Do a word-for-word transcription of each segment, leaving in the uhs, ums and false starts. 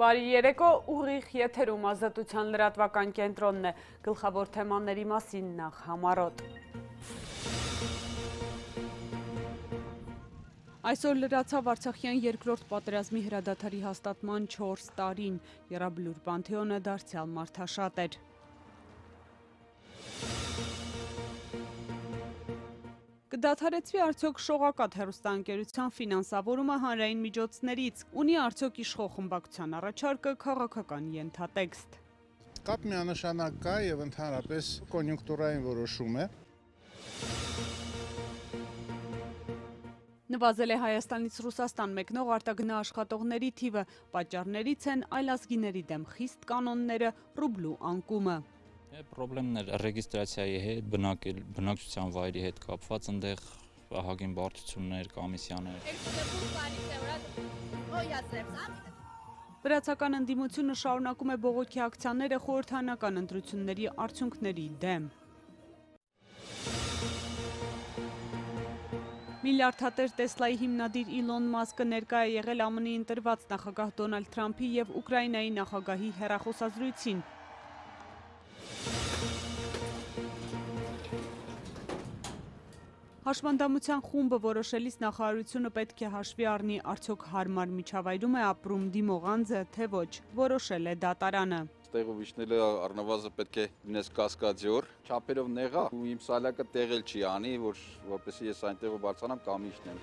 Բարի երեկո, ուղիղ եթերում ազատության լրատվական կենտրոնն է, գլխավոր թեմաների մասին նախ համառոտ։ Այսօր լրացավ Արցախյան երկրորդ պատերազմի հրադադարի հաստատման չորս տարին, Եռաբլուր Պանթեոնը դարձյալ մարդաշատ էր։ Կդադարեցվի արդյոք շողակաթ հեռուստաընկերության ֆինանսավորումը հանրային միջոցներից, ունի արդյոք իշխող խմբակցության առաջարկը քաղաքական ենթատեքստ։ Կապ միանշանակ կա եւ ընդհանրապես կոնյունկտուրային որոշում է։ Նվազել է Հայաստանից Ռուսաստան մեկնող արտագնա աշխատողների թիվը, պատճառներից են այլազգիների դեմ խիստ կանոնները, ռուբլու անկումը։ Պրոբլեմներ ռեգիստրացիայի հետ, բնակչության վայրի հետ կապված, այնտեղ ահագին բարդություններ, կոմիսիաներ։ Վրացական ընդդիմությունը շարունակում է բողոքի ակցիաները խորհրդարանական ընտրությունների արդյունքների դեմ։ Միլիարդատեր Տեսլայի հիմնադիր Իլոն Մասկը ներկա է եղել ԱՄՆ ընտրված նախագահ Դոնալդ Թրամփի և Ուկրաինայի նախագահի հեռախոսազրույցին։ Հաշմանդամության խումբը որոշելիս նախարարությունը պետք է հաշվի առնի, արդյոք հարմար միջավայրում է ապրում դիմողանձը, թե ոչ, որոշել է դատարանը։ Տեղով իջնելը առնվազն պետք է լինես կասկադյոր, չափերով նեղա ու իմ սալյակը տեղել չի անի, որ որպեսզի ես այնտեղով բարձրանամ կամ իջնեմ։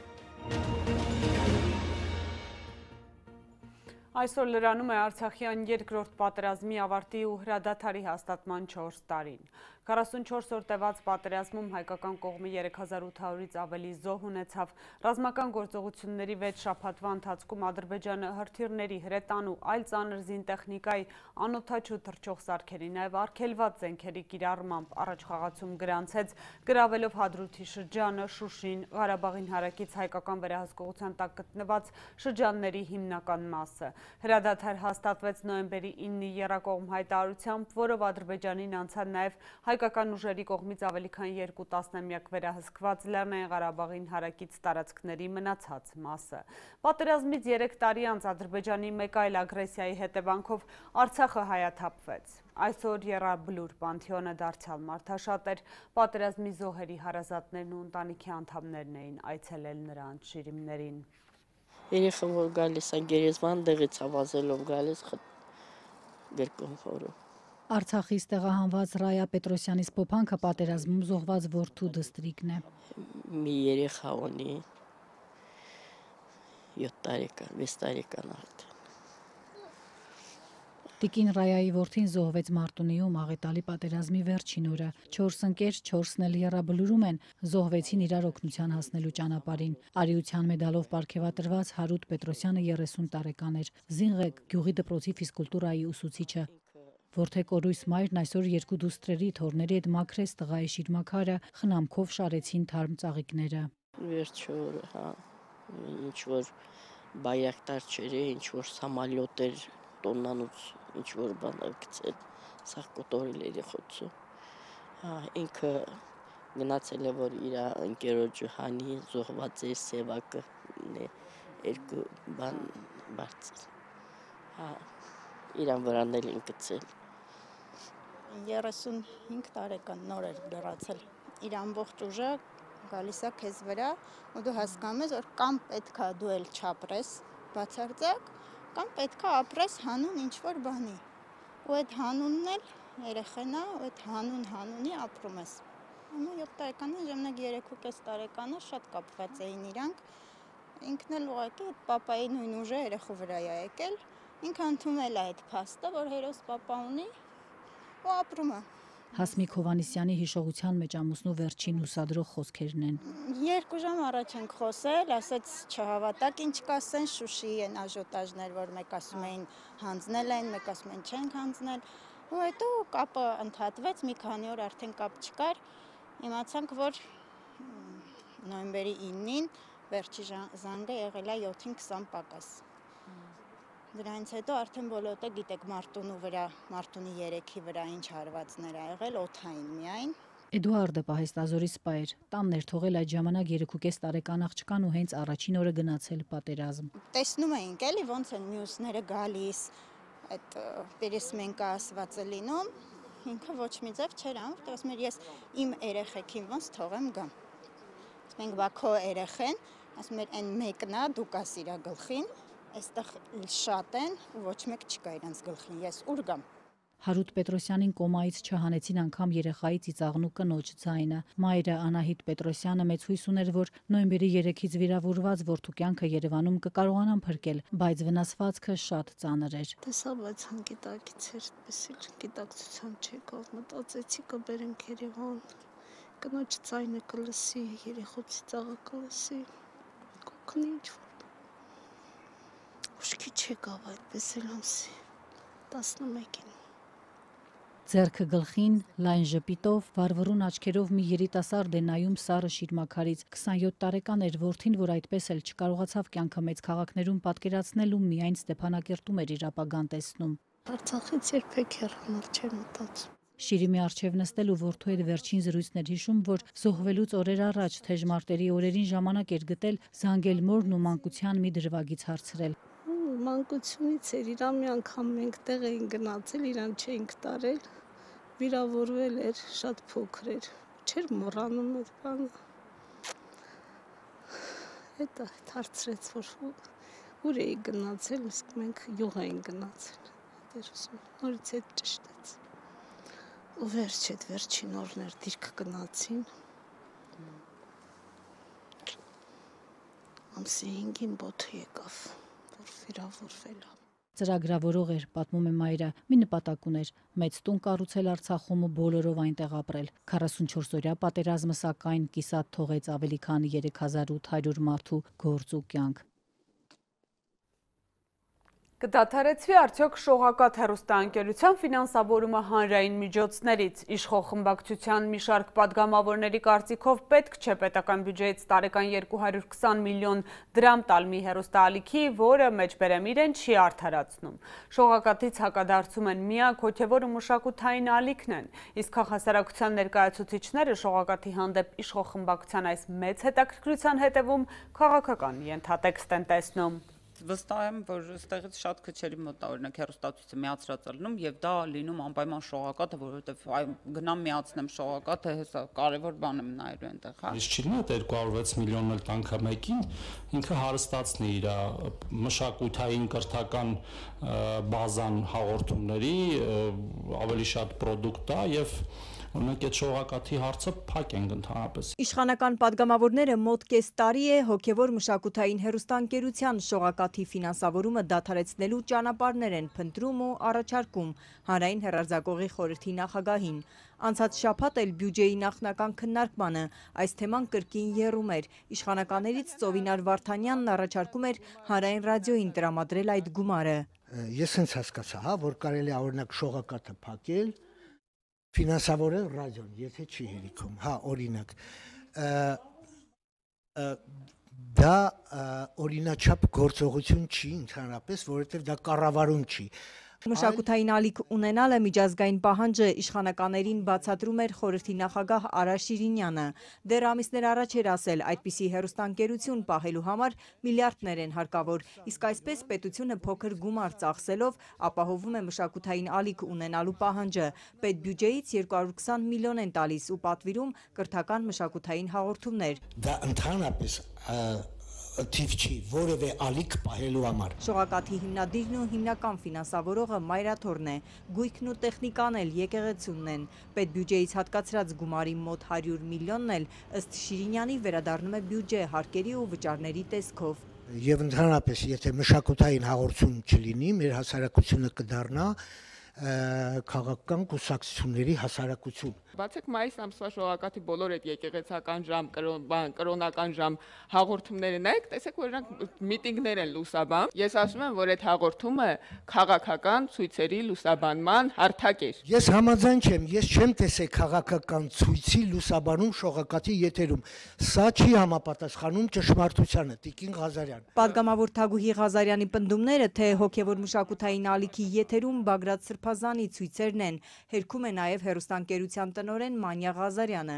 Այսօր լրանում է Արցախյան երկրորդ պատերազմի ավարտի ու հրադադարի հաստատման չորս տարին։ քառասունչորս օր տևած պատերազմում հայկական կողմը երեք հազար ութ հարյուրից ավելի զոհ ունեցավ։ Ռազմական գործողությունների վեց շաբաթվա ընթացքում Ադրբեջանը հրթիռների, հրետանու, այլ ծանր զինտեխնիկայի, անօդաչու թռչող սարքերի, նաև արգելված զենքերի կիրառմամբ առաջխաղացում գրանցեց, գրավելով Հադրութի շրջանը, Շուշին, Ղարաբաղին հարակից հայկական վերահսկողության տակ գտնված շրջանների հիմնական մասը։ Հրադադար հաստատվեց նոյեմբերի իննի եռակողմ հայտարարությամբ, որով Ադրբեջանին անցան նաև հայկական ուժերի կողմից ավելի քան երկու տասնամյակ վերահսկված Լեռնային Ղարաբաղին հարակից տարածքների մնացած մասը։ Պատերազմից երեք տարի անց Ադրբեջանի մեկ այլ ագրեսիայի հետևանքով Արցախը հայաթափվեց։ Այսօր Եռաբլուր Պանթեոնը դարձյալ մարդաշատ էր, պատերազմի զոհերի հարազատներն ու ընտանիքի անդամներն էին այցելել նրանց շիրիմներին։ Երեխան որ գալիս է գերեզման դեղից ավազելով գալիս գրկում խորը։ Արցախից տեղահանված Ռայա Պետրոսյանից փոփանքը պատերազմում զոհված որդու դստրիկն է։ Մի երեխա ունի յոթ տարեկան, վեց տարեկան արդեն։ Տիկին Ռայայի որդին զոհվեց Մարտունիում աղետալի պատերազմի վերջին օրը։ Չորս ընկեր, չորսն էլ Եռաբլուրում են, զոհվեցին իրար օգնության հասնելու ճանապարհին։ Արիության մեդալով պարգևատրված Հարութ Պետրոսյանը երեսուն տարեկան էր։ Զինղեկ գյուղի դպրոցի ֆիզկուլտուրայի ուսուցիչը։ Որդեկորույս մայրն այսօր երկու դուստրերի թորների հետ մաքրեց տղայի շիրմաքարը, խնամքով շարեցին թարմ ծաղիկները։ Վերջը, հա, ինչ որ բայրակտար չեր, ինչ որ սամալյոտ էր, տոննանուց ինչ որ բան գցել, սա կոտորել երեխոցը։ Հա, ինքը գնացել է, որ իր ընկերոջը հանի, զոհված է սևակը, երկու բան բարձր։ Հա, իրան վրանել են գցել։ երեսունհինգ տարեկան նոր էր դրացել։ Իր ամբողջ ուժը գալիս է քեզ վրա, ու դու հասկանում ես, որ կամ պետքա դու էլ չապրես բացարձակ, կամ պետքա ապրես հանուն ինչ-որ բանի։ Ու այդ հանունն էլ երեխենա, ու այդ հանուն հանունի ապրում ես։ Ամու յոթ տարեկանը, ժամանակ երեք ու կես տարեկանը շատ կապված էին իրանք։ Ինքն էլ ուղղակի այդ պապայի նույն ուժը երեխու վրա է եկել։ Ինքը ընդունել է այդ փաստը, որ հերոս պապա ունի ու ապրում է։ Հասմիկ Հովհաննիսյանի հիշողության մեջ ամուսնու վերջին հուսադրող խոսքերն են։ Երկու ժամ առաջ ենք խոսել, ասեց չհավատակ ինչ կասեն, Շուշիի են աժոտաժներ, որ մեկ ասում էին հանձնել են, մեկ ասում են չենք հանձնել, ու հետո կապը ընդհատվեց, մի քանի օր արդեն կապ չկար, իմացանք, որ նոյեմբերի իննին վերջի զանգը եղել է յոթին քսան պակաս։ Դրանից հետո արդեն բոլորը գիտեք Մարտունու վրա, Մարտունի երեքի վրա ինչ հարվածներ ա եղել, օդային միայն, Էդուարդը պահեստազորի սպա էր, տանն էր թողել այդ ժամանակ երեքուկես տարեկան աղջկան ու հենց առաջին օրը գնացել պատերազմ։ Տեսնում էինք էլի ոնց են մյուսները գալիս, այդ պերեսմենկա ասվածը լինում, ինքը ոչ մի ձև չէր անում, որտեղ ասում էր ես իմ երեխեքին ոնց թողեմ գամ։ Մենք բա քո երեխեն, ասում էր այն մեկն է, դու կաս իր գլխին, այստեղ շատ են ու ոչ մեկ չկա իրանց գլխին, ես ուր գամ։ Հարութ Պետրոսյանին կոմայից չհանեցին անգամ երեխայի ծիծաղնու կնոջ ձայնը։ Մայրը Անահիտ Պետրոսյանը մեծ հույս ուներ, որ նոյեմբերի երեքից վիրավորված որդու կյանքը Երևանում կկարողանան փրկել, բայց վնասվածքը շատ ծանր էր։ Տեսա, բայց հանգիտակից էր, այդպես էլ գիտակցության չեկավ, մտածեցի կբերենք Երևան, կնոջ ձայնը կլսի, երեխու ծիծաղը կլսի, կօգնի ինչ-որ։ Ուշքի չեկավ այդպես էլ ամսի տասնմեկին։ Ձեռքը գլխին, լայն ժպիտով, վարվռուն աչքերով մի երիտասարդ է նայում սառը շիրմաքարից։ քսանյոթ տարեկան էր որդին, որ այդպես էլ չկարողացավ կյանքը մեծ քաղաքներում պատկերացնել ու միայն Ստեփանակերտում էր իր ապագան տեսնում։ Արցախից երբեք հեռանալ չեմ մտածում։ Շիրիմի առջև նստել ու որդու հետ վերջին զրույցներ հիշում, որ զոհվելուց օրեր առաջ թեժ մարտերի օրերին ժամանակ էր գտել զանգել մորն ու մանկության մի դրվագից հարցրել։ Մանկությունից էր, իրան մի անգամ մենք տեղ էին գնացել, իրան չէինք տարել, վիրավորվել էր, շատ փոքր էր, չէր մոռանում այդ բանը։ Հետո հարցրեց, որ ուր էի գնացել, իսկ մենք յուղ էին գնացել, նորից հետ ճշտեց։ Ու վերջ այդ վերջին օրներ դիրք գնացին, ամսի հինգին բոթը եկավ, որ վիրավորվել է։ Ծրագրավորող էր, պատմում է մայրը, մի նպատակ ուներ՝ մեծ տուն կառուցել Արցախում ու բոլորով այնտեղ ապրել։ քառասունչորս օրյա պատերազմը սակայն կիսատ թողեց ավելի քան երեք հազար ութ հարյուր մարդու գործ ու կյանք։ Կդադարեցվի արդյոք շողակաթ հեռուստաընկերության ֆինանսավորումը հանրային միջոցներից։ Իշխող խմբակցության մի շարք պատգամավորների կարծիքով պետք չէ պետական բյուջեից տարեկան երկու հարյուր քսան միլիոն դրամ տալ մի հեռուստաալիքի, որը մեջբերեմ իրեն չի արդարացնում։ Շողակաթից հակադարձում են միակ հոգևոր ու մշակութային ալիքն են, իսկ քաղաքասարակության ներկայացուցիչները շողակաթի հանդեպ իշխող խմբակցության այս մեծ հետաքրքրության հետևում քաղաքական ենթատեքստ են տեսնում։ Վստահ եմ, որ այստեղից շատ քչերի մոտ է օրինակ հեռուստացույցը միացրած լինում եւ դա լինում անպայման շողակաթը, որովհետեւ գնամ միացնեմ շողակաթը, հեսա կարևոր բան եմ նայելու այնտեղ, հա։ Իսկ չի նա երկու հարյուր վեց միլիոնն էլ տանքը մեկին, ինքը հարստացնի իր մշակութային կրթական բազան հաղորդումների ավելի շատ պրոդուկտ է եւ Օրինակ այդ շողակաթի հարցը փակ ենք ընդհանրապես։ Իշխանական падգամավորները մոտ կես տարի է հոգևոր մշակութային հեռուստաընկերության շողակաթի ֆինանսավորումը դադարեցնելու ճանապարհներ են փնտրում ու առաջարկում հանրային հեռարձակողի խորհրդի նախագահին։ Անցած շաբաթ էլ բյուջեի նախնական քննարկմանը այս թեման կրկին եռում էր։ Իշխանականներից Ծովինար Վարդանյանն առաջարկում էր հանրային ռադիոյին տրամադրել այդ գումարը։ Ես հենց հասկացա, հա, որ կարելի է օրինակ շողակաթը փակել ֆինանսավորել ռադիոն, եթե չի հերիքում, հա, օրինակ, դա օրինաչափ գործողություն չի ընդհանրապես, որովհետև դա կառավարում չի։ Մշակութային ալիք ունենալը միջազգային պահանջը իշխանականներին բացատրում էր խորհրդի նախագահ Արա Շիրինյանը։ Դեռ ամիսներ առաջ էր ասել, այդպիսի հեռուստաընկերություն պահելու համար միլիարդներ են հարկավոր, իսկ այսպես պետությունը փոքր գումար ծախսելով ապահովում է մշակութային ալիք ունենալու պահանջը։ Պետբյուջեից երկու հարյուր քսան միլիոն են տալիս ու պատվիրում կրթական մշակութային հաղորդումներ։ Դա ընդհանրապես թիվ չի, որևէ ալիք պահելու համար։ Շողակաթի հիմնադիրն ու հիմնական ֆինանսավորողը Մայրաթորն է, գույքն ու տեխնիկան էլ եկեղեցունն են։ Պետբյուջեից հատկացրած գումարի մոտ հարյուր միլիոնն էլ ըստ Շիրինյանի վերադառնում է բյուջե հարկերի ու վճարների տեսքով։ Եվ ընդհանրապես, եթե մշակութային հաղորդում չլինի, մեր հասարակությունը կդառնա քաղաքական կուսակցությունների հասարակություն։ Բացեք մայիս ամսվա շողակաթի բոլոր այդ եկեղեցական ժամ, կրոնական ժամ հաղորդումները նայեք, տեսեք, որ նրանք միտինգներ են լուսաբանում։ Ես ասում եմ, որ այդ հաղորդումը քաղաքական ցույցերի լուսաբանման հարթակ էր։ Ես համաձայն չեմ, ես չեմ տեսել քաղաքական ցույցի լուսաբանում շողակաթի եթերում։ Սա չի համապատասխանում ճշմարտությանը, Տիկին Ղազարյան։ Պատգամավոր Թագուհի Ղազարյանի պնդումները, թե հոգևոր մշակութային ալիքի եթերում Բագրատ Սրբազանի ցույցերն են, հերքում է նաև հեռուստաընկերության տնօրեն Մանյա Ղազարյանը։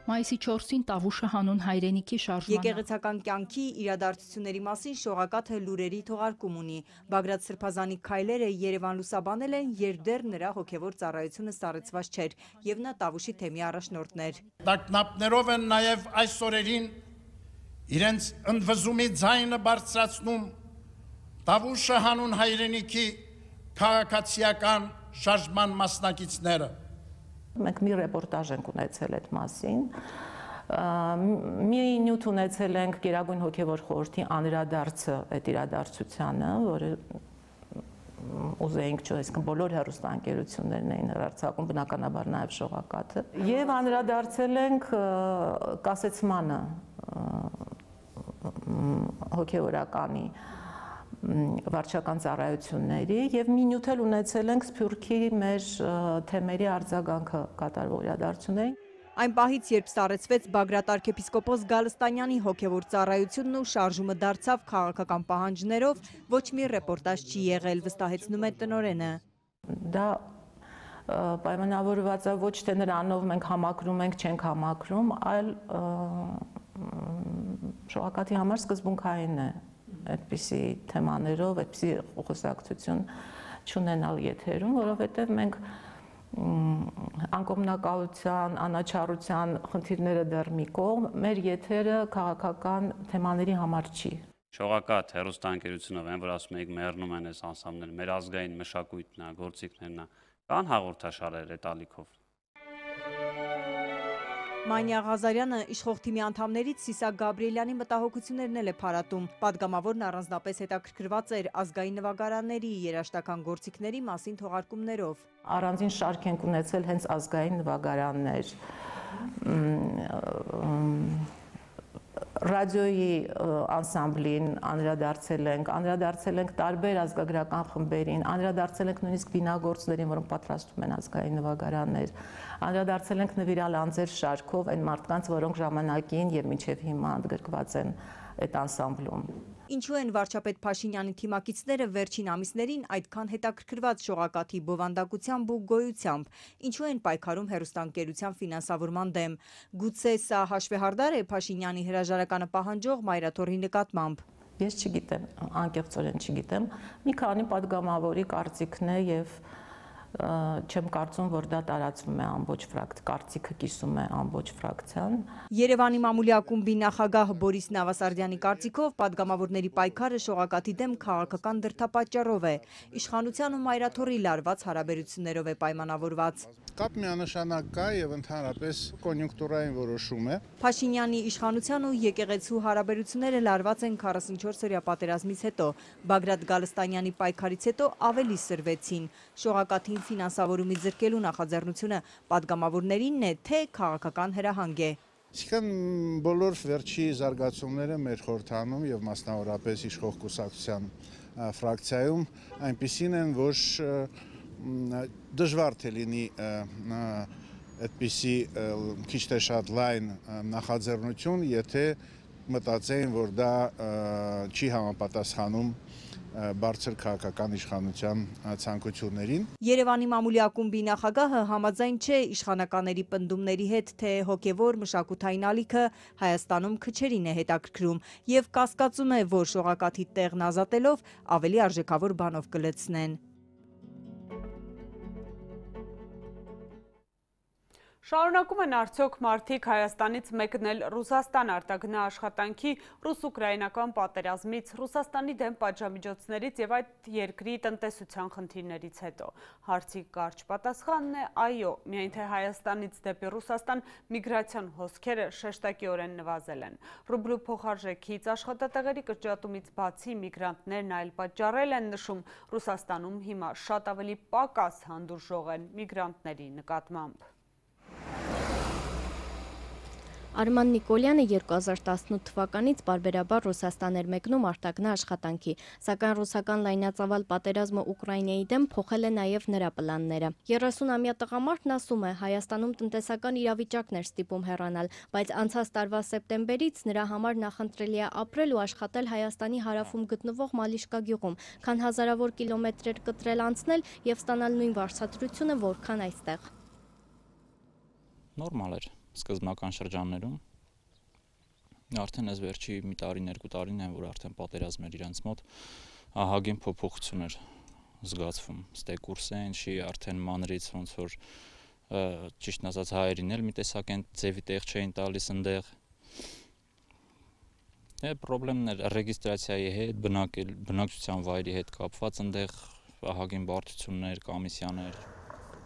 Մայիսի չորսին Տավուշը հանուն հայրենիքի շարժման Եկեղեցական կյանքի իրադարձությունների մասին շողակաթը լուրերի թողարկում ունի։ Բագրատ Սրբազանի քայլերը Երևան լուսաբանել են, երբ դեռ նրա հոգևոր ծառայությունը սառեցված չէր, եւ նա Տավուշի թեմի առաջնորդն էր։ Տագնապներով են նաև այս օրերին իրենց ընդվզումի ձայնը բարձրացնում Տավուշը հանուն հայրենիքի քաղաքացիական շարժման մասնակիցները։ Մենք մի ռեպորտաժ ենք ունեցել այդ մասին, մի նյութ ունեցել ենք Գերագույն հոգևոր խորհրդի անդրադարձը այդ իրադարձությանը, որը ուզեինք չէ, այսինքն բոլոր հեռուստաընկերություններն էին հեռարձակում, բնականաբար նաև շողակաթը, եւ անդրադարձել ենք կասեցմանը հոգևորականի վարչական ծառայությունների եւ մի նյութ էլ ունեցել ենք Սփյուռքի մեր թեմերի արձագանքը կատարվող իրադարձություններին։ Այն պահից, երբ սառեցվեց Բագրատ arczepiskopos Գալստանյանի հոգևոր ծառայությունն ու շարժումը դարձավ քաղաքական պահանջներով, ոչ մի ռեպորտաժ չի եղել, վստահեցնում է տնօրենը։ Դա պայմանավորված է ոչ թե նրանով մենք համակրում ենք, չենք համակրում, այլ շողակաթի համար սկզբունքային է այդպիսի թեմաներով, այդպիսի խոսակցություն չունենալ եթերում, որովհետև մենք անկողմնակալության, անաչառության խնդիրները դեռ մի կողմ, մեր եթերը քաղաքական թեմաների համար չի։ Շողակաթ հեռուստաընկերությունով են, որ ասում եք մեռնում են այս անսամբները, մեր ազգային մշակույթն է, գործիքներն է, կան հաղորդաշարեր այդ ալիքով։ Մանյա Ղազարյանը իշխող թիմի անդամներից Սիսակ Գաբրիելյանի մտահոգություններն էլ է փարատում։ Պատգամավորն առանձնապես հետաքրքրված էր ազգային նվագարանների երաժշտական գործիքների մասին թողարկումներով։ Առանձին շարք ենք ունեցել հենց ազգային նվագարաններ։ Ռադիոյի անսամբլին անդրադարձել ենք, անդրադարձել ենք տարբեր ազգագրական խմբերին, անդրադարձել ենք նույնիսկ վինագործներին, որոնք պատրաստում են ազգային նվագարաններ, անդրադարձել ենք նվիրալ անձեր շարքով այն մարդկանց, որոնք ժամանակին եւ մինչեւ հիմա ընդգրկված են այդ անսամբլում։ Ինչու են վարչապետ Փաշինյանի թիմակիցները վերջին ամիսներին այդքան հետաքրքրված շողակաթի բովանդակությամբ ու գոյությամբ, ինչու են պայքարում հեռուստաընկերության ֆինանսավորման դեմ։ Գուցե սա հաշվեհարդար է Փաշինյանի հրաժարականը պահանջող մայրաթոռի նկատմամբ։ Ես չգիտեմ, անկեղծորեն չգիտեմ, մի քանի պատգամավորի կարծիքն է եւ չեմ կարծում, որ դա տարածվում է ամբողջ ֆրակցիա, կարծիքը կիսում է ամբողջ ֆրակցիան։ Երևանի մամուլի ակումբի նախագահ Բորիս Նավասարդյանի կարծիքով պատգամավորների պայքարը շողակաթի դեմ քաղաքական դրդապատճառով է, իշխանության ու մայրաթոռի լարված հարաբերություններով է պայմանավորված։ Կապ միանշանակ կա եւ ընդհանրապես կոնյունկտուրային որոշում է։ Փաշինյանի իշխանության ու եկեղեցու հարաբերությունները լարված են քառասունչորս-օրյա պատերազմից հետո, Բագրատ Գալստանյանի պայքարից հետո ավելի սրվեցին։ Շողակաթին ֆինանսավորումից զրկելու նախաձեռնությունը պատգամավորներինն է, թե քաղաքական հրահանգ է։ Իսկական բոլոր վերջի զարգացումները մեր խորհրդանում եւ մասնավորապես իշխող կուսակցության ֆրակցիայում այնպիսին են, որ դժվար թե լինի այդպիսի քիչ թե շատ լայն նախաձեռնություն, եթե մտածեին, որ դա չի համապատասխանում բարձր քաղաքական իշխանության ցանկություններին։ Երևանի մամուլի ակումբի նախագահը համաձայն չէ իշխանականների պնդումների հետ, թե հոգևոր մշակութային ալիքը Հայաստանում քչերին է հետաքրքրում եւ կասկածում է, որ շողակաթի տեղն ազատելով ավելի արժեքավոր բանով կլցնեն։ Շարունակում են արդյոք մարդիկ Հայաստանից մեկնել Ռուսաստան արտագնա աշխատանքի ռուս-ուկրաինական պատերազմից, Ռուսաստանի դեմ պատժամիջոցներից եւ այդ երկրի տնտեսության խնդիրներից հետո։ Հարցի կարճ պատասխանն է այո, միայն թե Հայաստանից դեպի Ռուսաստան միգրացիոն հոսքերը շեշտակիորեն նվազել են։ Ռուբլու փոխարժեքից աշխատատեղերի կրճատումից բացի միգրանտներն այլ պատճառել են նշում, Ռուսաստանում հիմա շատ ավելի պակաս հանդուրժող են միգրանտների նկատմամբ։ Արման Նիկոլյանը երկու հազար տասնութ թվականից պարբերաբար Ռուսաստան էր մեկնում արտագնա աշխատանքի, սակայն ռուսական լայնածավալ պատերազմը Ուկրաինայի դեմ փոխել է նաև նրա պլանները։ երեսունամյա տղամարդն ասում է, Հայաստանում տնտեսական իրավիճակն էր ստիպում հեռանալ, բայց անցած տարվա սեպտեմբերից նրա համար նախընտրելի է ապրել ու աշխատել Հայաստանի հարավում գտնվող Մալիշկա գյուղում, քան հազարավոր կիլոմետրեր կտրել անցնել եւ ստանալ նույն վարձատրությունը, որքան այստեղ։ Նորմալ էր սկզբնական շրջաններում, արդեն այս վերջի մի տարին, երկու տարին են, որ արդեն պատերազմ էր իրենց մոտ, ահագին փոփոխություն էր զգացվում, ստեկուրս է, ինչի արդեն մանրից ոնց որ ճիշտն ասած հայերին էլ մի տեսակ են ձևի տեղ չէին տալիս ընդեղ։ Է պրոբլեմներ ռեգիստրացիայի հետ, բնակչության վայրի հետ կապված ընդեղ ահագին բարդություններ, կոմիսիաներ։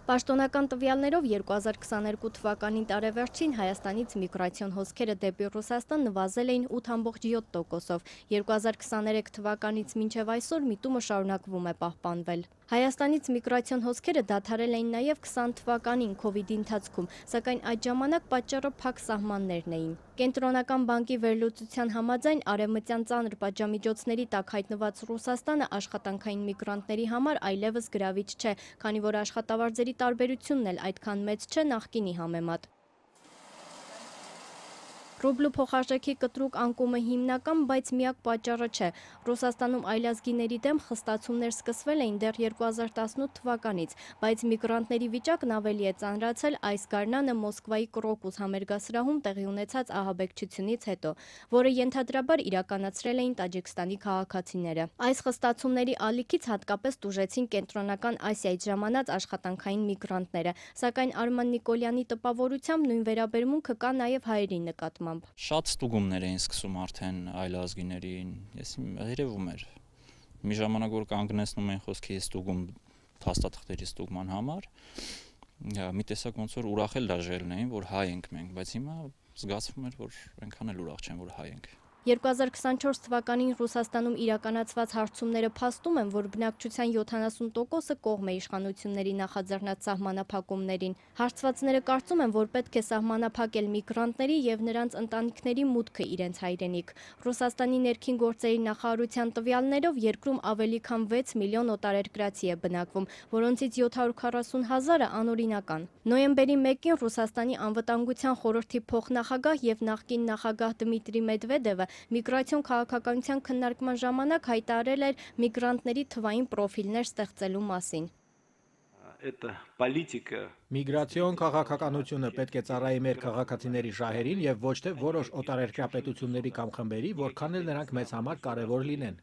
Պաշտոնական տվյալներով երկու հազար քսաներկու թվականի տարեվերջին Հայաստանից միգրացիոն հոսքերը դեպի Ռուսաստան նվազել էին ութ բացարձակ յոթ տոկոսով, երկու հազար քսաներեք թվականից մինչև այսօր միտումը շարունակվում է պահպանվել։ Հայաստանից միգրացիոն հոսքերը դադարել էին նաև քսան թվականին քովիդի ընթացքում, սակայն այդ ժամանակ պատճառը փակ սահմաններն էին։ Կենտրոնական բանկի վերլուծության համաձայն արևմտյան ծանր պատժամիջոցների տակ հայտնված Ռուսաստանը աշխատանքային միգրանտների համար այլևս գրավիչ չէ, քանի որ աշխատավարձերի տարբերությունն էլ այդքան մեծ չէ նախկինի համեմատ։ Ռուբլու փոխարժեքի կտրուկ անկումը հիմնական, բայց միակ պատճառը չէ։ Ռուսաստանում այլազգիների դեմ խստացումներ սկսվել էին դեռ երկու հազար տասնութ թվականից, բայց միգրանտների վիճակն ավելի է ծանրացել այս գարնանը Մոսկվայի Կրոկուս համերգասրահում տեղի ունեցած ահաբեկչությունից հետո, որը ենթադրաբար իրականացրել էին Տաջիկստանի քաղաքացիները։ Այս խստացումների ալիքից հատկապես տուժեցին Կենտրոնական Ասիայից ժամանած աշխատանքային միգրանտները, սակայն Արման Նիկոլյանի տպավորությամբ նույն վերաբերմունքը կա նաև հայերի նկատմամբ։ Շատ ստուգումներ էին սկսում արդեն այլազգիներին, ես երևում էր։ Մի ժամանակ որ կանգնեցնում էին խոսքի ստուգում փաստաթղթերի ստուգման համար, մի տեսակ ոնց որ ուրախ էլ դաժելն էին, որ հայ ենք մենք, բայց հիմա զգացվում էր, որ այնքան էլ ուրախ չեն, որ հայ ենք։ երկու հազար քսանչորս թվականին Ռուսաստանում իրականացված հարցումները փաստում են, որ բնակչության յոթանասուն տոկոսը կողմ է իշխանությունների նախաձեռնած սահմանափակումներին։ Հարցվածները կարծում են, որ պետք է սահմանափակել միգրանտների եւ նրանց ընտանիքների մուտքը իրենց հայրենիք։ Ռուսաստանի ներքին գործերի նախարարության տվյալներով երկրում ավելի քան վեց միլիոն օտարերկրացի է բնակվում, որոնցից յոթ հարյուր քառասուն հազարը անօրինական։ Նոյեմբերի մեկին Ռուսաստանի անվտանգության խորհրդի փոխնախագահ եւ նախկին նախագահ Դմիտրի Մեդվեդևը միգրացիոն քաղաքականության քննարկման ժամանակ հայտարարել էր միգրանտների թվային պրոֆիլներ ստեղծելու մասին։ Միգրացիոն քաղաքականությունը պետք է ծառայի մեր քաղաքացիների շահերին եւ ոչ թե որոշ օտարերկրյա պետությունների կամ խմբերի, որքան էլ նրանք մեզ համար կարեւոր լինեն։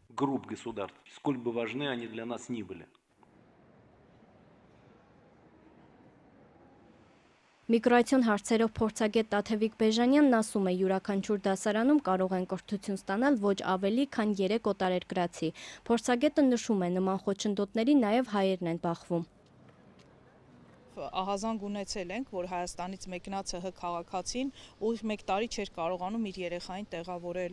Միգրացիոն հարցերով փորձագետ Տաթևիկ Բեժանյանն ասում է, յուրաքանչյուր դասարանում կարող են կրթություն ստանալ ոչ ավելի, քան երեք օտարերկրացի։ Փորձագետը նշում է, նման խոչընդոտների նաև հայերն են բախվում։ Ահազանգ ունեցել ենք, որ Հայաստանից մեկնած ՀՀ քաղաքացին ուղիղ մեկ տարի չէր կարողանում իր երեխային տեղավորել,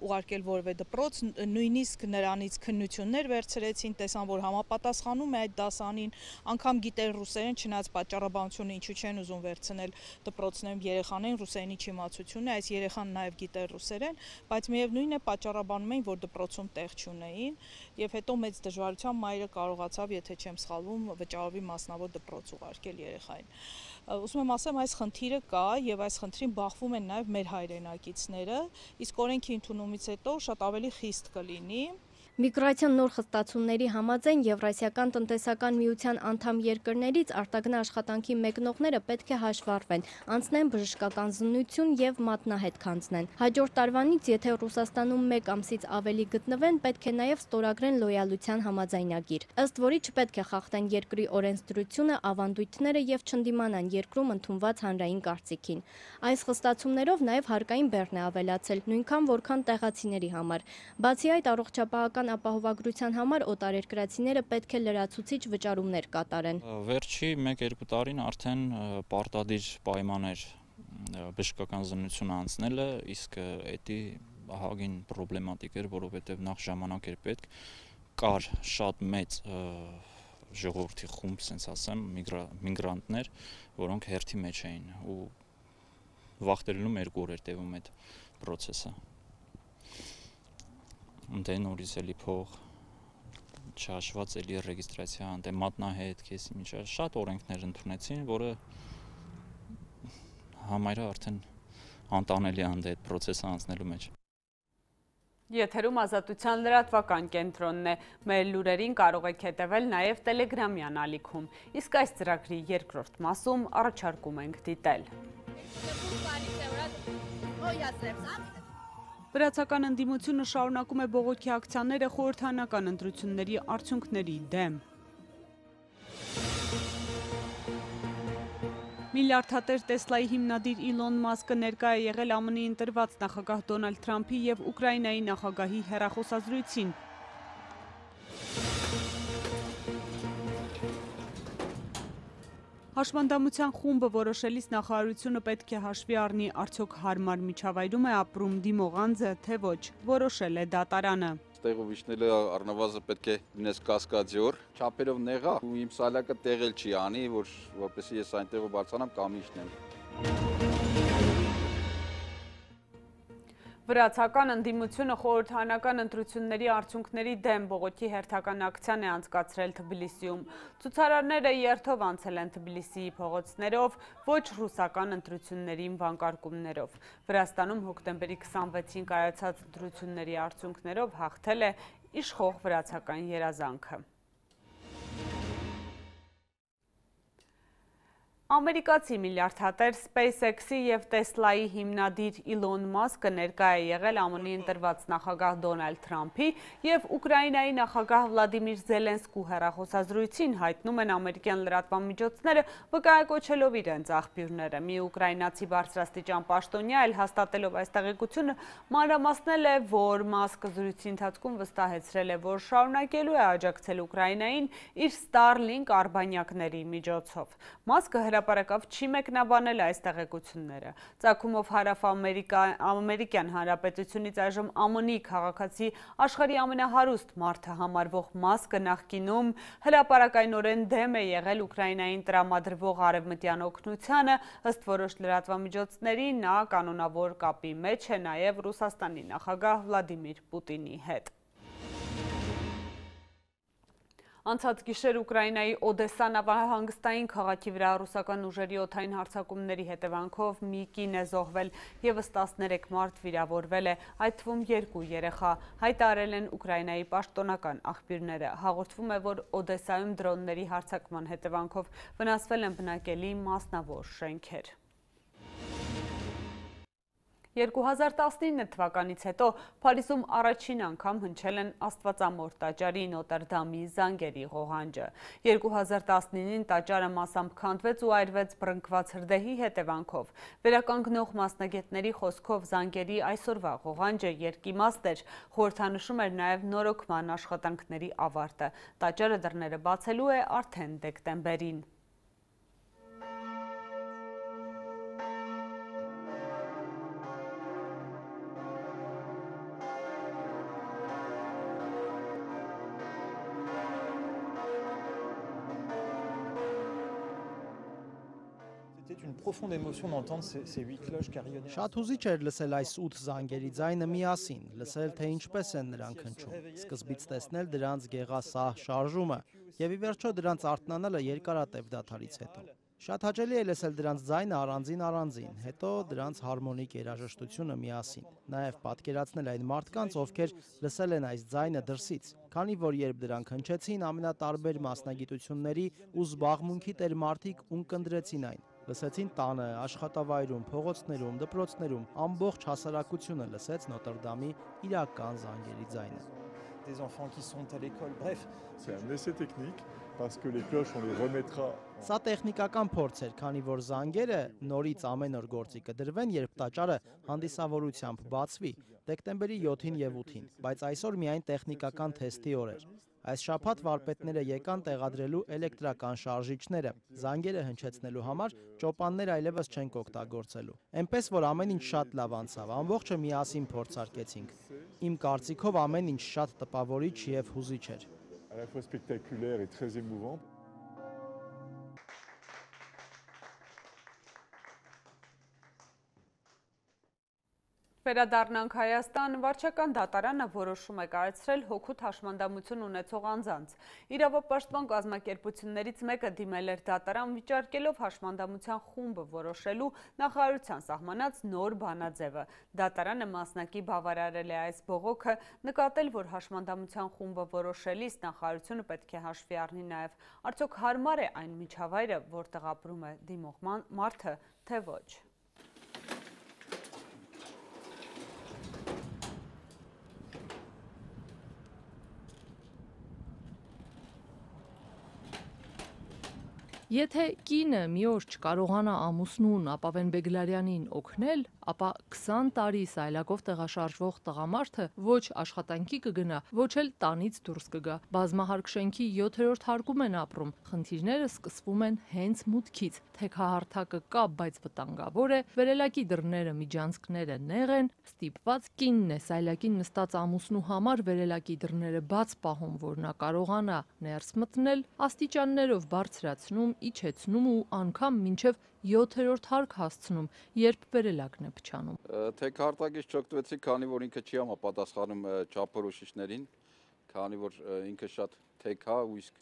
ուղարկել որևէ դպրոց, նույնիսկ նրանից քննություններ վերցրեցին, տեսան, որ համապատասխանում է այդ դասանին, անգամ գիտեր ռուսերեն, չնայած պատճառաբանությունը ինչու չեն ուզում վերցնել դպրոցներում երեխաներին ռուսերենի չիմացություն է, այս երեխան նաև գիտեր ռուսերեն, բայց միևնույն է պատճառաբանում էին, որ դպրոցում տեղ չունեին, եւ հետո մեծ դժվարությամբ մայրը կարողացավ, եթե չեմ սխալվում, վճարովի մասնավոր դպրոց ուղարկել երեխային։ Ուզում եմ ասեմ, այս խնդիրը կա եւ այս խնդրին բախվում են նաեւ մեր հայրենակիցները, իսկ օրենքի ընդունումից հետո շատ ավելի խիստ կլինի։ Միգրացիոն նոր խստացումների համաձայն Եվրասիական տնտեսական միության անդամ երկրներից արտագնա աշխատանքի մեկնողները պետք է հաշվառվեն, անցնեն բժշկական զննություն եւ մատնահետ քանձնեն։ Հաջորդ տարվանից, եթե Ռուսաստանում մեկ ամսից ավելի գտնվեն, պետք է նաեւ ստորագրեն լոյալության համաձայնագիր, ըստ որի չպետք է խախտեն երկրի օրենսդրությունը, ավանդույթները եւ չընդդիմանան երկրում ընդունված հանրային կարծիքին։ Այս խստացումներով նաեւ հարկային բեռն է ավելացել, նույնքան որքան տեղացիների համար։ Բացի այդ, առողջապահական ապահովագրության համար օտարերկրացիները պետք է լրացուցիչ վճարումներ կատարեն։ Վերջի մեկ-երկու տարին արդեն պարտադիր պայման էր բժշկական զննությունը անցնելը, իսկ էդի ահագին պրոբլեմատիկ էր, որովհետև նախ ժամանակ էր պետք, կար շատ մեծ ժողովրդի խումբ, ասենց ասեմ, միգրանտներ, որոնք հերթի մեջ էին ու վախտերելում երկու օր էր տևում այդ process-ը։ Դե նորից էլի փող չհաշված էլի ռեգիստրացիա, դե մատնահետ, քեսի միջա շատ օրենքներ ընդունեցին, որը համարյա արդեն անտանելի է այդ process-ը անցնելու մեջ։ Եթերում Ազատության լրատվական կենտրոնն է, մեր լուրերին կարող եք հետևել նաև Տելեգրամյան ալիքում, իսկ այս ծրագրի երկրորդ մասում առաջարկում ենք դիտել։ Վրացական ընդդիմությունը շարունակում է բողոքի ակցիաները խորհրդարանական ընտրությունների արդյունքների դեմ։ Միլիարդատեր Տեսլայի հիմնադիր Իլոն Մասկը ներկա է եղել ԱՄՆ-ի ընտրված նախագահ Դոնալդ Թրամփի և Ուկրաինայի նախագահի հեռախոսազրույցին։ Հաշվանդամության խումբը որոշելիս նախարարությունը պետք է հաշվի առնի արդյոք հարմար միջավայրում է ապրում դիմողանձը, թե ոչ, որոշել է դատարանը։ Տեղով իջնելը առնվազն պետք է լինես կասկադյոր, չափերով նեղա ու իմ սալակը տեղել չի անի, որ որպեսզի ես այնտեղով բարձրանամ կամ իջնեմ։ Վրացական ընդդիմությունը խորհրդարանական ընտրությունների արդյունքների դեմ բողոքի հերթական ակցիան է անցկացրել Թբիլիսիում։ Ցուցարարները երթով անցել են Թբիլիսիի փողոցներով, ոչ ռուսական ընտրություններին վանկարկումներով։ Վրաստանում հոկտեմբերի քսանվեցին կայացած ընտրությունների արդյունքներով հաղթել է իշխող վրացական երազանքը։ Ամերիկացի միլիարդատեր SpaceX-ի և Տեսլայի հիմնադիր Իլոն Մասկը ներկա է եղել ԱՄՆ-ի ընտրված նախագահ Դոնալդ Թրամփի և Ուկրաինայի նախագահ Վլադիմիր Զելենսկու հեռախոսազրույցին, հայտնում են ամերիկյան լրատվամիջոցները, վկայակոչելով իրենց աղբյուրները։ Մի ուկրաինացի բարձրաստիճան պաշտոնյա էլ հաստատելով այս տեղեկությունը մանրամասնել է, որ Մասկը զրույցի ընթացքում վստահեցրել է, որ շարունակելու է աջակցել Ուկրաինային իր Starlink արբանյակների միջոցով։ Մասկը հրապարակավ չի մեկնաբանել այս տեղեկությունները։ Ծագումով հարավ-ամերիկյան հանրապետությունից այժմ ԱՄՆ-ի քաղաքացի աշխարհի ամենահարուստ մարդը համարվող Մասկը նախկինում հրապարակայնորեն դեմ է եղել Ուկրաինային տրամադրվող արևմտյան օգնությանը, ըստ որոշ լրատվամիջոցների նա կանոնավոր կապի մեջ է նաև Ռուսաստանի նախագահ Վլադիմիր Պուտինի հետ։ Անցած գիշեր Ուկրաինայի Օդեսա նավահանգստային քաղաքի վրա ռուսական ուժերի օդային հարձակումների հետևանքով մի կին է զոհվել, ևս տասներեք մարդ վիրավորվել է, այդ թվում երկու երեխա, հայտարարել են Ուկրաինայի պաշտոնական աղբյուրները։ Հաղորդվում է, որ Օդեսայում դրոնների հարձակման հետևանքով վնասվել են բնակելի մասնավոր շենքեր։ երկու հազար տասնինը թվականից հետո Փարիզում առաջին անգամ հնչել են Աստվածամոր տաճարի Նոտր Դամի զանգերի ղողանջը։ երկու հազար տասնինին տաճարը մասամբ քանդվեց ու այրվեց բռնկված հրդեհի հետևանքով։ Վերականգնող մասնագետների խոսքով զանգերի այսօրվա ղողանջը երկիմաստ էր, խորհրդանշում էր նաև նորոգման աշխատանքների ավարտը։ Տաճարը դռները բացելու է արդեն դեկտեմբերին։ Շատ հուզիչ էր լսել այս ութ զանգերի ձայնը միասին, լսել, թե ինչպես են նրանք հնչում, սկզբից տեսնել դրանց գեղասահ շարժումը և ի վերջո դրանց արթնանալը երկարատև դադարից հետո։ Շատ հաճելի է լսել դրանց ձայնը առանձին-առանձին, հետո դրանց հարմոնիկ երաժշտությունը միասին, նաև պատկերացնել այն մարդկանց, ովքեր լսել են այս ձայնը դրսից, քանի որ երբ դրանք հնչեցին, ամենատարբեր մասնագիտությունների ու զբաղմունքի տեր մարդիկ ունկնդրեցին այն։ Լսեցին տանը, աշխատավայրում, փողոցներում, դպրոցներում, ամբողջ հասարակությունը լսեց Նոտր Դամի իրական զանգերի ձայնը։ Des enfants qui sont à l'école. Bref, c'est un essai technique parce que les cloches on les remettra. Սա տեխնիկական փորձ էր, քանի որ զանգերը նորից ամեն օր գործի կդրվեն, երբ տաճարը հանդիսավորությամբ բացվի, դեկտեմբերի յոթին և ութին, բայց այսօր միայն տեխնիկական թեստի օր էր։ Այս շաբաթ վարպետները եկան տեղադրելու էլեկտրական շարժիչները, զանգերը հնչեցնելու համար ճոպաններ այլևս չենք օգտագործելու։ Էնպես որ ամեն ինչ շատ լավ անցավ, ամբողջը միասին փորձարկեցինք։ Իմ կարծիքով ամեն ինչ շատ տպավորիչ և հուզիչ էր։ À la fois spectaculaire et très émouvant. Վերադառնանք Հայաստան, վարչական դատարանը որոշում է կայացրել հօգուտ հաշմանդամություն ունեցող անձանց։ Իրավապաշտպան կազմակերպություններից մեկը դիմել էր դատարան վիճարկելով հաշմանդամության խումբը որոշելու նախարարության սահմանած նոր բանաձևը։ Դատարանը մասնակի բավարարել է այս բողոքը, նկատել, որ հաշմանդամության խումբը որոշելիս նախարարությունը պետք է հաշվի առնի նաև արդյոք հարմար է այն միջավայրը, որտեղ ապրում է դիմող մարդը, թե ոչ։ Եթե կինը մի օր չկարողանա ամուսնուն Ապավեն Բեգլարյանին օգնել, ապա քսան տարի սայլակով տեղաշարժվող տղամարդը ոչ աշխատանքի կգնա, ոչ էլ տանից դուրս կգա։ Բազմահարկ շենքի յոթերորդ հարկում են ապրում։ Խնդիրները սկսվում են հենց մուտքից։ Թեքահարթակը կա, բայց վտանգավոր է, վերելակի դռները միջանցքները նեղ են, ստիպված կինն է սայլակին նստած ամուսնու համար վերելակի դռները բաց պահում, որ նա կարողանա ներս մտնել, աստիճաններով բարձրացնում, իջեցնում ու անգամ մինչև յոթերորդ հարկ հասցնում, երբ վերելակն է փչանում։ Թեքահարտակից չօգտվեցի, քանի որ ինքը չի համապատասխանում չափորոշիչներին, քանի որ ինքը շատ թեք է ու իսկ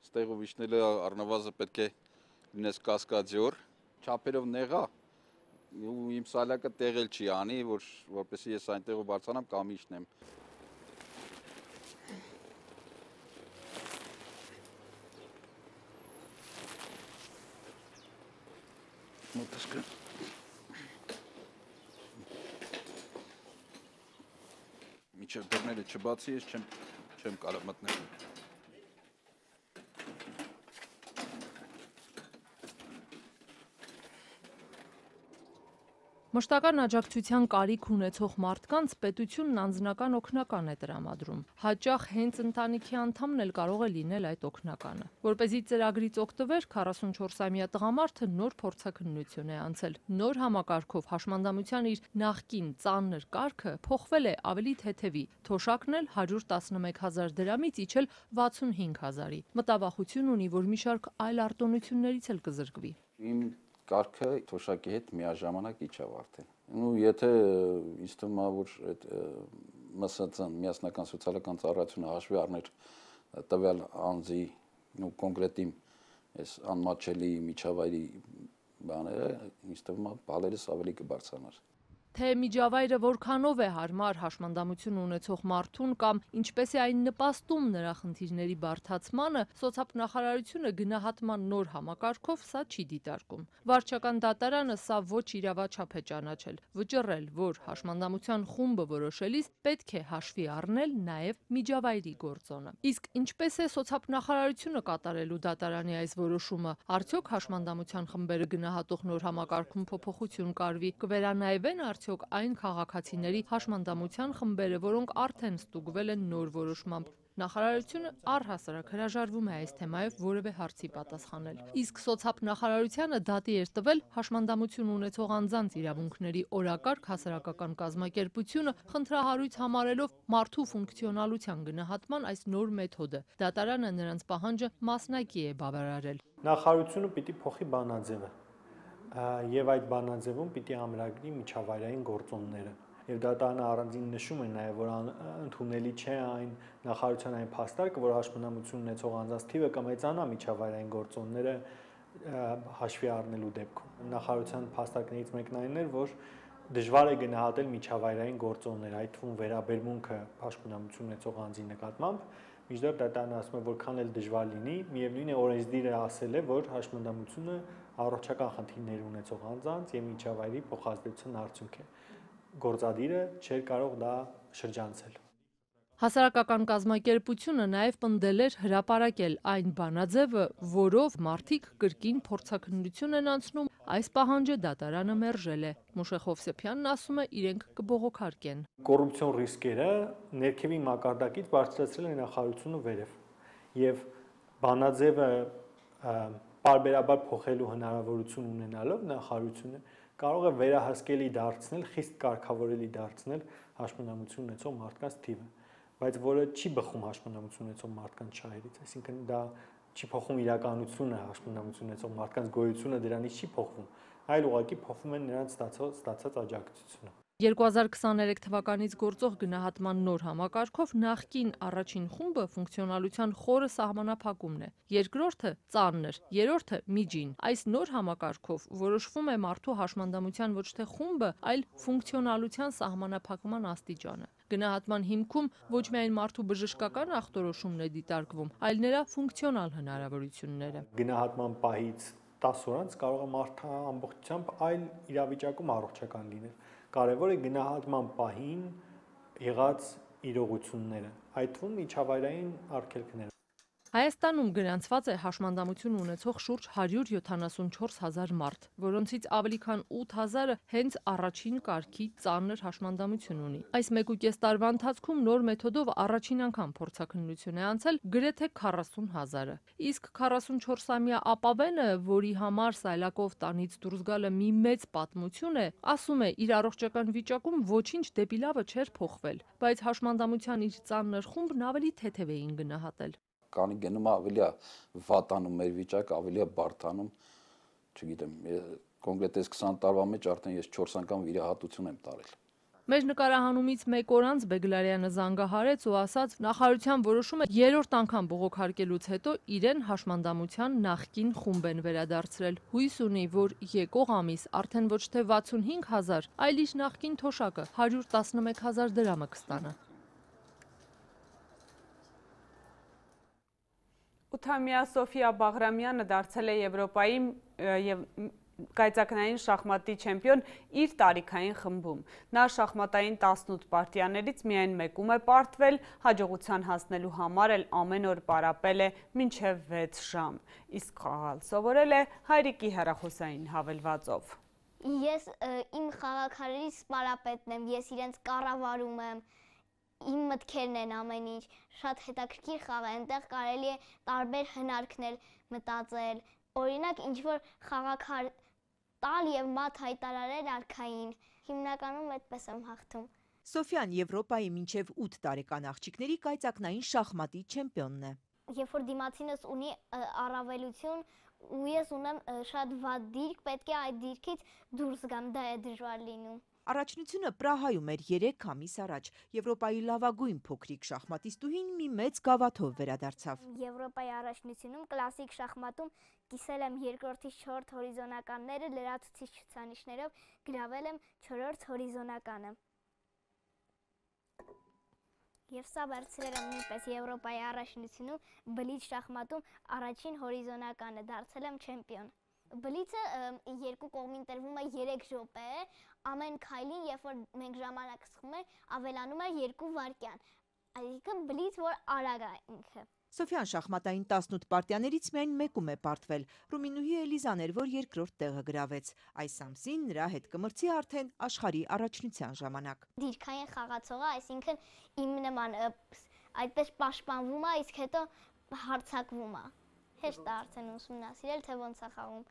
ստեղով իջնելը առնվազն պետք է լինես կասկադյոր, չափերով նեղ է ու իմ սալակը տեղել չի անի, որ որպեսզի ես այնտեղով բարձրանամ կամ իջնեմ։ Մոտսկը միջև դռները չբացի, ես չեմ չեմ կարող մտնել։ Մշտական աջակցության կարիք ունեցող մարդկանց պետությունն անձնական օգնական է տրամադրում։ Հաճախ հենց ընտանիքի անդամն էլ կարող է լինել այդ օգնականը։ Որպեսզի ծրագրից օգտվեր, քառասունչորսամյա տղամարդը նոր փորձաքննություն է անցել։ Նոր համակարգով հաշմանդամության իր նախկին ծանր կարգը փոխվել է ավելի թեթևի։ Թոշակն էլ հարյուր տասնմեկ հազար դրամից իջել վաթսունհինգ հազարի։ Մտավախություն ունի, որ մի շարք այլ արտոնություններից էլ կզրկվի։ Իմ կարգը թոշակի հետ միաժամանակ իջավ արդեն։ Ու եթե ինձ թվում է, որ այդ ՄՍԾ-ն, միասնական սոցիալական ծառայությունը հաշվի առներ տվյալ անձի ու կոնկրետ իմ այս անմատչելի միջավայրի բաները, ինձ թվում է բալերս ավելի կբարձրանար։ Թե միջավայրը որքանով է հարմար հաշմանդամություն ունեցող մարդուն կամ ինչպես է այն նպաստում նրա խնդիրների բարդացմանը, սոցիալնախարարությունը գնահատման նոր համակարգով սա չի դիտարկում։ Վարչական դատարանը սա ոչ իրավաչափ է ճանաչել, վճռել, որ հաշմանդամության խումբը որոշելիս պետք է հաշվի առնել նաև միջավայրի գործոնը։ Իսկ ինչպես է սոցիալնախարարությունը կատարելու դատարանի այս որոշումը, արդյոք հաշմանդամության խմբերը գնահատող նոր համակարգում փոփոխություն կարվի, կվերանայվեն արդյոք այն քաղաքացիների հաշմանդամության խմբերը, որոնք արդեն ստուգվել են նոր որոշմամբ։ Նախարարությունը առհասարակ հրաժարվում է այս թեմայով որևէ հարցի պատասխանել։ Իսկ սոցիալնախարարությանը դատի էր տվել հաշմանդամություն ունեցող անձանց իրավունքների օրակարգ հասարակական կազմակերպությունը, խնդրահարույց համարելով մարդու ֆունկցիոնալության գնահատման այս նոր մեթոդը։ Դատարանը նրանց պահանջը մասնակի է բավարարել։ Նախարարությունը պիտի փոխի բանաձևը եւ այդ բանաձևում պիտի ամրագրի միջավայրային գործոնները։ Եվ դատարանը առանձին նշում է նաև, որ ընդունելի չէ այն նախարարության այն փաստարկը, որ հաշմանդամություն ունեցող անձանց թիվը կմեծանա միջավայրային գործոնները հաշվի առնելու դեպքում։ Նախարարության փաստարկներից մեկն այն էր, որ դժվար է գնահատել միջավայրային գործոններ, այդ թվում վերաբերմունքը հաշմանդամություն ունեցող անձի նկատմամբ, մինչդեռ դատարանը ասում է, որքան էլ դժվար լինի, միևնույն է օրենսդիրը ասել է, որ հաշմանդամությունը առողջական խնդիրներ ունեցող անձանց եւ միջավայրի փոխազդեցության արդյունք է։ Գործադիրը չէր կարող դա շրջանցել։ Հասարակական կազմակերպությունը նաև պնդել էր հրապարակել այն բանաձևը, որով մարդիկ կրկին փորձաքննություն են անցնում, այս պահանջը դատարանը մերժել է։ Մուշեղ Հովսեփյանն ասում է, իրենք կբողոքարկեն։ Կոռուպցիոն ռիսկերը ներքևի մակարդակից բարձրացրել է նախարարությունը վերև եւ բանաձևը պարբերաբար փոխելու հնարավորություն ունենալով նախարարությունը կարող է վերահսկելի դարձնել, խիստ կարգավորելի դարձնել հաշմանդամություն ունեցող մարդկանց թիվը, բայց որը չի բխում հաշմանդամություն ունեցող մարդկանց շահերից, այսինքն դա չի փոխում իրականությունը, հաշմանդամություն ունեցող մարդկանց գոյությունը դրանից չի փոխվում, այլ ուղղակի փոխվում է նրանց ստացած աջակցությունը։ երկու հազար քսաներեք թվականից գործող գնահատման նոր համակարգով նախկին առաջին խումբը ֆունկցիոնալության խորը սահմանափակումն է, երկրորդը ծանր, երրորդը միջին։ Այս նոր համակարգով որոշվում է մարդու հաշմանդամության ոչ թե խումբը, այլ ֆունկցիոնալության սահմանափակման աստիճանը։ Գնահատման հիմքում ոչ միայն մարդու բժշկական ախտորոշումն է դիտարկվում, այլ նրա ֆունկցիոնալ հնարավորությունները։ Գնահատման պահից տասը օր անց կարող է մարդը ամբողջությամբ այլ իրավիճակում առողջական լինել։ Կարևոր է գնահատման պահին եղած իրողությունները, այդ թվում միջավայրային արգելքները։ Հայաստանում գրանցված է հաշմանդամություն ունեցող շուրջ հարյուր յոթանասունչորս հազար մարդ, որոնցից ավելի քան ութ հազարը հենց առաջին կարգի ծանր հաշմանդամություն ունի։ Այս մեկ ու կես տարվա ընթացքում նոր մեթոդով առաջին անգամ փորձաքննություն է անցել գրեթե քառասուն հազարը։ Իսկ քառասունչորսամյա ապավենը, որի համար սայլակով տանից դուրս գալը մի մեծ պատմություն է, ասում է, իր առողջական վիճակում ոչինչ դեպի լավը չէր փոխվել, բայց հաշմանդամության իր ծանր խումբն ավելի թեթև էին գնահատել։ Կանի գնում ավելի է վատանում մեր վիճակը, ավելի է բարդանում, չգիտեմ, կոնկրետ այս քսան տարվա մեջ արդեն ես չորս անգամ վիրահատություն եմ տարել։ Մեր նկարահանումից մեկ օր անց Բեգլարյանը զանգահարեց ու ասաց, նախարարության որոշումը երրորդ անգամ բողոքարկելուց հետո իրեն հաշմանդամության նախկին խումբ են վերադարձրել։ Հույս ունի, որ եկող ամիս արդեն ոչ թե վաթսունհինգ հազար, այլ իր նախկին թոշակը հարյուր տասնմեկ հազար դրամը կստանա։ Ութամյա Սոֆիա Բաղրամյանը դարձել է Եվրոպայի և կայծակնային շախմատի չեմպիոն իր տարիքային խմբում։ Նա շախմատային տասնութ պարտիաներից միայն մեկում է պարտվել, հաջողության հասնելու համար էլ ամեն օր պարապել է մինչև վեց ժամ։ Իսկ խաղալ սովորել է հայրիկի հեռախոսային հավելվածով։ Ես իմ խաղաքարերից պարապետն եմ, ես իրենց կառավարում եմ, իմ մտքերն են ամեն ինչ, շատ հետաքրքիր խաղ է, այնտեղ կարելի է տարբեր հնարքներ մտածել, օրինակ ինչ-որ խաղաքար տալ և մատ հայտարարել արքային, հիմնականում այդպես եմ հաղթում։ Սոֆյան Եվրոպայի մինչև ութ տարեկան աղջիկների կայծակնային շախմատի չեմպիոնն է։ Երբ որ դիմացինս ունի առավելություն ու ես ունեմ շատ վատ դիրք, պետք է այդ դիրքից դուրս գամ, դա է դժվար լինում։ Առաջնությունը Պրահայում էր երեք ամիս առաջ։ Եվրոպայի լավագույն փոքրիկ շախմատիստուհին մի մեծ գավաթով վերադարձավ։ Եվրոպայի առաջնությունում կլասիկ շախմատում կիսել եմ երկրորդից չորրորդ հորիզոնականները, լրացուցիչ ցուցանիշներով գրավել եմ չորրորդ հորիզոնականը։ Եվ սա վերցրել եմ նույնպես Եվրոպայի առաջնությունում բլիթ շախմատում առաջին հորիզոնականը, դարձել եմ չեմպիոն։ Բլիցը երկու կողմին տրվում է երեք րոպե, ամեն քայլին, երբ որ մենք ժամանակ սխում ենք, ավելանում է երկու վայրկյան, այսինքն բլից, որ արագ է ինքը։ Սոֆյան շախմատային տասնութ պարտիաներից միայն մեկում է պարտվել։ Ռումինուհի Էլիզան էր, որ երկրորդ տեղը գրավեց։ Այս ամսին նրա հետ կմրցի արդեն աշխարհի առաջնության ժամանակ։ Դիրքային խաղացողը, այսինքն իմ նման այդպես պաշտպանվում է, իսկ հետո հարձակվում է։ Հեշտ է արդեն ուսումնասիրել, թե ոնց է խաղում։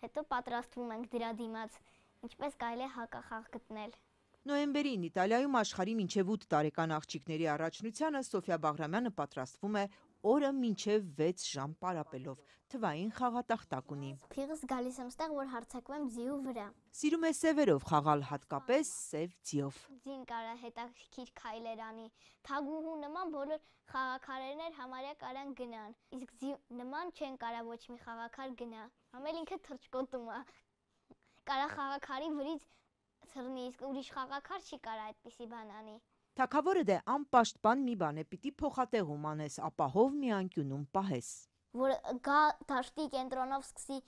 Հետո պատրաստվում ենք դրա դիմաց, ինչպես կարելի է հակախաղ գտնել։ Նոյեմբերին Իտալիայում աշխարհի մինչև ութ տարեկան աղջիկների առաջնությանը Սոֆիա Բաղրամյանը պատրաստվում է օրը մինչև վեց ժամ պարապելով, թվային խաղատախտակ ունի։ Փիղս գալիս եմ ստեղ, որ հարձակվեմ ձիու վրա։ Սիրում է սևերով խաղալ, հատկապես սև ձիով։ Ձին կարա հետաքրքիր քայլեր անի, թագուհու նման բոլոր խաղաքարերներ համարյա կարան գնան, իսկ ձի նման չեն կարա ոչ մի խաղաքար գնա, ամել ինքը թռչկոտում է, կարա խաղաքարի վրից թռնի, իսկ ուրիշ խաղաքար չի կարա այդպիսի բան անի։ Թագավորը դե անպաշտպան մի բան է, պիտի փոխատեղում անես, ապահով մի անկյունում պահես։ Որ գա դաշտի կենտրոնով սկսի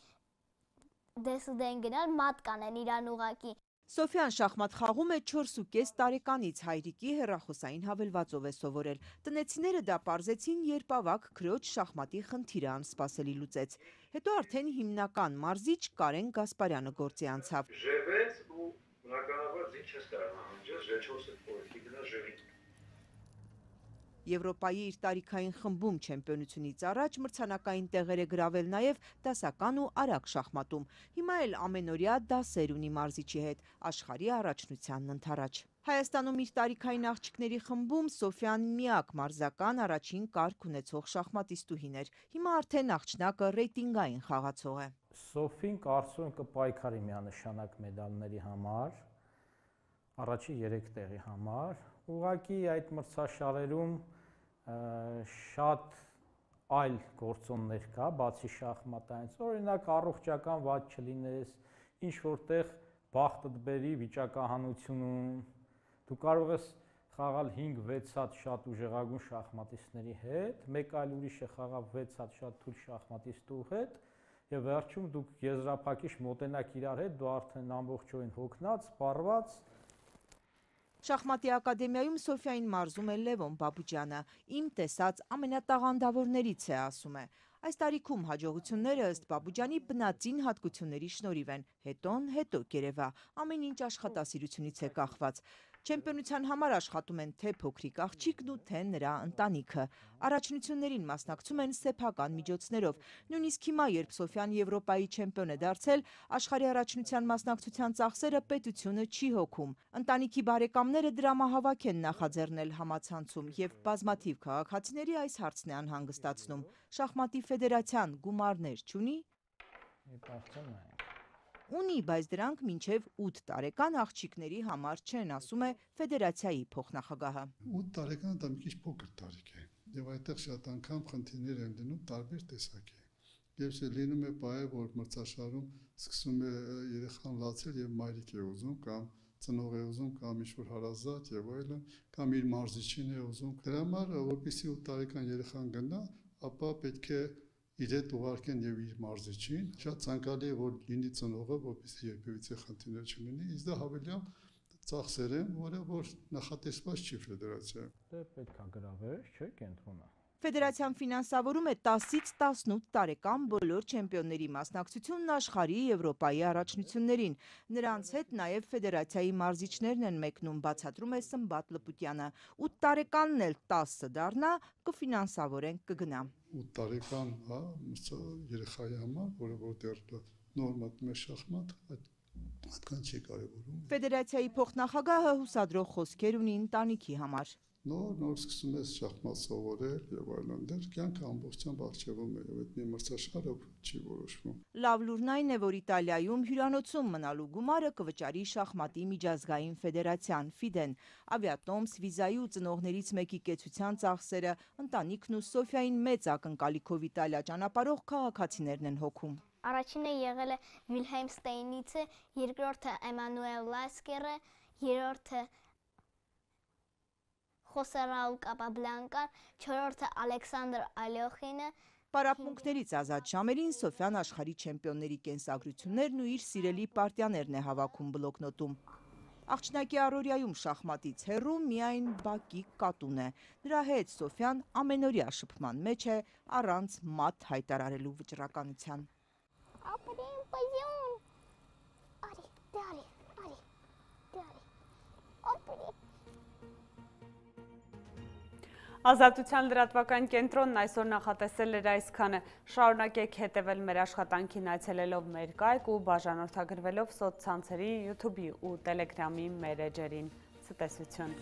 դեսուդեն գնալ, մատ կանեն իրան ուղակի։ Սոֆյան շախմատ խաղում է չորս ու կես տարեկանից, հայրիկի հեռախոսային հավելվածով է սովորել։ Տնեցիները դա պարզեցին, երբ ավագ քրոջ շախմատի խնդիրը անսպասելի լուծեց։ Հետո արդեն հիմնական մարզիչ Կարեն Գասպարյանը գործի անցավ։ Եվրոպայի իր տարիքային խմբում չեմպիոնությունից առաջ մրցանակային տեղեր է գրավել նաև դասական ու արագ շախմատում։ Հիմա էլ ամենօրյա դասեր ունի մարզիչի հետ, աշխարհի առաջնությանն ընդառաջ։ Հայաստանում իր տարիքային աղջիկների խմբում Սոֆյան միակ մարզական առաջին կարգ ունեցող շախմատիստուհին էր։ Հիմա արդեն աղջնակը ռեյտինգային խաղացող է։ Սոֆին կարծում եմ կպայքարի միանշանակ մեդալների համար, առաջի երեք տեղի համար։ Ուղղակի այդ մրցաշարերում շատ այլ գործոններ կա, բացի շախմատայից, օրինակ առողջական վատ չլինես, ինչ որտեղ բախտդ բերի վիճակահանությունում, դու կարող ես խաղալ հինգ վեց հատ շատ ուժեղագույն շախմատիստների հետ, մեկ այլ ուրիշը խաղալ վեց հատ շատ թույլ շախմատիստու հետ, եւ վերջում դուք եզրափակիչ մոտենաք իրար հետ, դու արդեն ամբողջովին հոգնած, սպառված։ Շախմատի ակադեմիայում Սոֆիային մարզում է Լևոն Բաբուջյանը, իմ տեսած ամենատաղանդավորներից է, ասում է։ Այս տարիքում հաջողությունները ըստ Բաբուջյանի բնածին հատկությունների շնորհիվ են, հետոն հետո կերևա, ամեն ինչ աշխատասիրությունից է կախված։ Չեմպիոնության համար աշխատում են թե փոքրիկ աղջիկն ու թե նրա ընտանիքը։ Առաջնություններին մասնակցում են սեփական միջոցներով։ Նույնիսկ հիմա, երբ Սոֆյան Եվրոպայի չեմպիոն է դարձել, աշխարհի առաջնության մասնակցության ծախսերը պետությունը չի հոգում։ Ընտանիքի բարեկամները դրամահավաք են նախաձեռնել համացանցում եւ բազմաթիվ քաղաքացիների այս հարցն է անհանգստացնում։ Շախմատի ֆեդերացիան գումարներ չունի։ Ունի, բայց դրանք մինչև ութ տարեկան աղջիկների համար չեն, ասում է ֆեդերացիայի փոխնախագահը։ ութ տարեկանը դա մի քիչ փոքր տարիք է, եւ այդտեղ շատ անգամ խնդիրներ են լինում տարբեր տեսակի։ Եվ լինում է բայ, որ մրցաշարում սկսում է երեխան լացել եւ մայրիկ է ուզում կամ ծնող է ուզում կամ ինչ-որ հարազատ եւ այլն, կամ իր մարզիչին է ուզում։ Դրա համար, որպեսզի ութ տարեկան երեխան գնա, ապա պետք է իր հետ ուղարկեն եւ իր մարզիչին, շատ ցանկալի է որ լինի ծնողը, որպեսզի երբևիցե խնդիրներ չլինի, իսկ դա հավելյալ ծախսեր են, որը որ նախատեսված չի ֆեդերացիայում։ Դե պետք է գրավեր, չէ՞, կենտրոնը։ Ֆեդերացիան ֆինանսավորում է տասից տասնութ տարեկան բոլոր չեմպիոնների մասնակցությունն աշխարհի Եվրոպայի առաջնություններին։ Նրանց հետ նաև ֆեդերացիայի մարզիչներն են մեկնում, բացատրում է Սմբատ Լպուտյանը։ ութ տարեկանն էլ տասը դառնա, կֆինանսավորեն, կգնա։ ութ տարեկան, հա, երեխայի համար, որը որ դեռ նոր մտնում է շախմատ, այդքան չի կարևորում։ Ֆեդերացիայի փոխնախագահը հուսադրող խոսքեր ունի ընտանիքի համար։ Նոր նոր սկսում ես շախմատ սովորել եւ այլն, դեռ կյանքը ամբողջությամբ արժևում է եւ այդ մի մրցաշարը չի որոշվում։ Լավ լուրն այն է, որ Իտալիայում հյուրանոցում մնալու գումարը կվճարի շախմատի միջազգային ֆեդերացիան ֆիդեն, ավիատոմս, վիզայի ու ծնողներից մեկի կեցության ծախսերը, ընտանիքն ու Սոֆիային մեծ ակնկալիքով Իտալիա ճանապարհող քաղաքացիներն են հոգում։ Առաջինը եղել է Վիլհելմ Ստեյնիցը, երկրորդը Էմանուել Լասկերը, երրորդը Խոսե Ռաուլ Կապաբլանկան, չորրորդը Ալեքսանդր Ալյոխինը։ Պարապմունքներից ազատ ժամերին Սոֆյան աշխարհի չեմպիոնների կենսագրություններն ու իր սիրելի պարտիաներն է հավաքում բլոկնոտում։ Աղջնակի առօրյայում շախմատից հեռու միայն բակի կատուն է։ Նրա հետ Սոֆյան ամենօրյա շփման մեջ է առանց մատ հայտարարելու վճռականության։ Ապրեն պայուն։ Արի, դարի, արի, դարի։ Ապրեն։ Ազատության լրատվական կենտրոնն այսօր նախատեսել էր այսքանը։ Շարունակեք հետևել մեր աշխատանքին այցելելով մեր կայք ու բաժանորդագրվելով սոցցանցերի, յութուբի ու տելեգրամի մեր էջերին։ Ցտեսություն։